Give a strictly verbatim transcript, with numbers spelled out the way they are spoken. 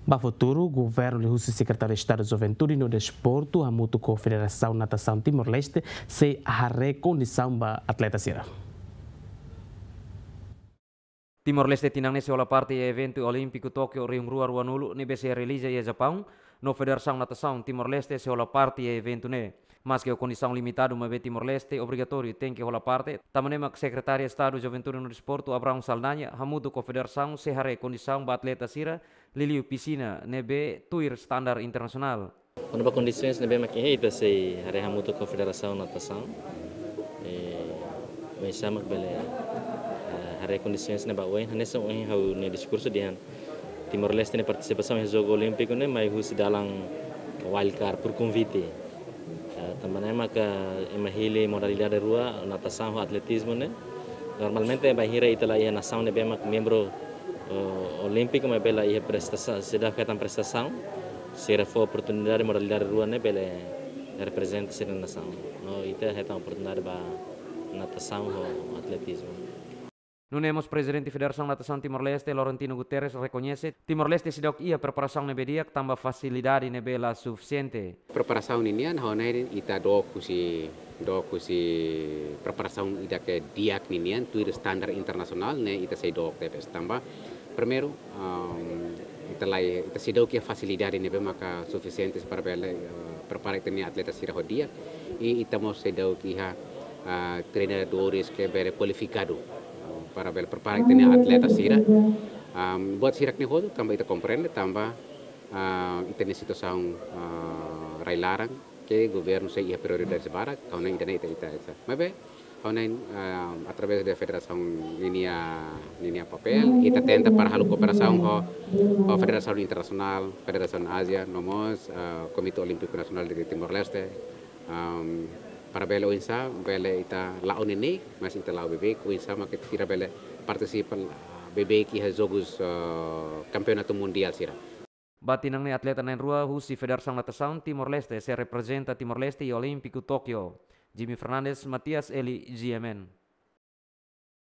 Ba futuru, governu liuhusi Sekretáriu Estadu Juventude no Desportu hamutuk ho Federasaun Natasaun Timor-Leste sei haree kondisaun ba atleta sira. Timor-Leste tinan ne'e sei hola parte iha eventu Olímpiku Tókiu rihun rua ruanulu ne'ebé sei realiza iha Japaun, no Federasaun Natasaun Timor-Leste sei hola parte iha eventu ne'e. Maske ho kondisaun limitadu maibé Timor-Leste obrigatóriu tenke hola parte, tanba ne'e mak Sekretáriu Estadu Juventude no Desportu Abrão Saldanha hamutuk ho federasaun sei haree kondisaun ba atleta sira, liuliu pisina ne'ebé tuir standar internasionál. Kona-ba kondisoens ne'ebé mak iha, ita sei haree hamutuk ho Federasaun Natasaun. Eh, oinsá mak bele, eh, haree kondisoens ne'e ba oin, hanesan ohin ha'u-nia diskursu dehan. Timor-Leste nia partisipasaun iha Jogu Olímpiku ne'e mai husi dalan wildcard por convite. Eh, tanba ne'e maka ema hili modalidade rua, natasaun ho atletizmu ne'e. Normalmente bainhira ita la iha nasaun ne'ebé mak membru, eh, olímpiku maibé la iha prestasaun, seidauk hetan prestasaun, sira fó oportunidade modalidade rua ne'e bele reprezenta sira-nia nasaun. No ita hetan oportunidade ba natasaun ho atletizmu. Nune'e mós Prezidente Federasaun Natasaun Timor-Leste, Laurentino Guterres, rekoñese Timor-Leste seidauk iha preparasaun ne'ebé di'ak tanba fasilidade ne'ebé la sufisiente. Preparasaun ninian, ha'u hanoin ita dook husi, dook husi preparasaun ida ke di'ak ninian, tuir standar internasionál, ne'e ita sei dook tebes tanba. Primeiru, ehm, ita la, ita seidauk iha fasilidade ne'ebé maka sufisiente para bele, eh, prepara ita-nia atleta sira ho di'ak. I ita mós seidauk iha, ah, treinadores ke bele kualifikadu, ah, para bele prepara ita-nia atleta sira. Ehm, buat sira-ne'e hotu tanba ita komprende tanba, ah, ita-nia situasaun, ah, rai-laran ke governu sei iha prioridades barak, ha'u hanoin ida-ne'e ita, ita, ita. Maibé, ha'u hanoin, ah, através de federasaun ninia, ninia papél, ita tenta para halo kooperasaun ho, ho federasaun internasionál, Federasaun Ázia, no mós, ah, Komité Olímpiku Nasionál de Timor-Leste, ehm, para bele oinsá, bele ita la'o neineik, mas ita la'o beibeik, oinsá maka ita sira bele partisipa, ah, beibeik iha jogus, ah, kampeonatu mundiál sira. Ba tinan ne'e atleta na'in-rua husi Federasaun Natasaun Timor-Leste sei reprezenta Timor-Leste iha Olímpiku Tókiu. Jimmy Fernandes, Matias Eli, G M N.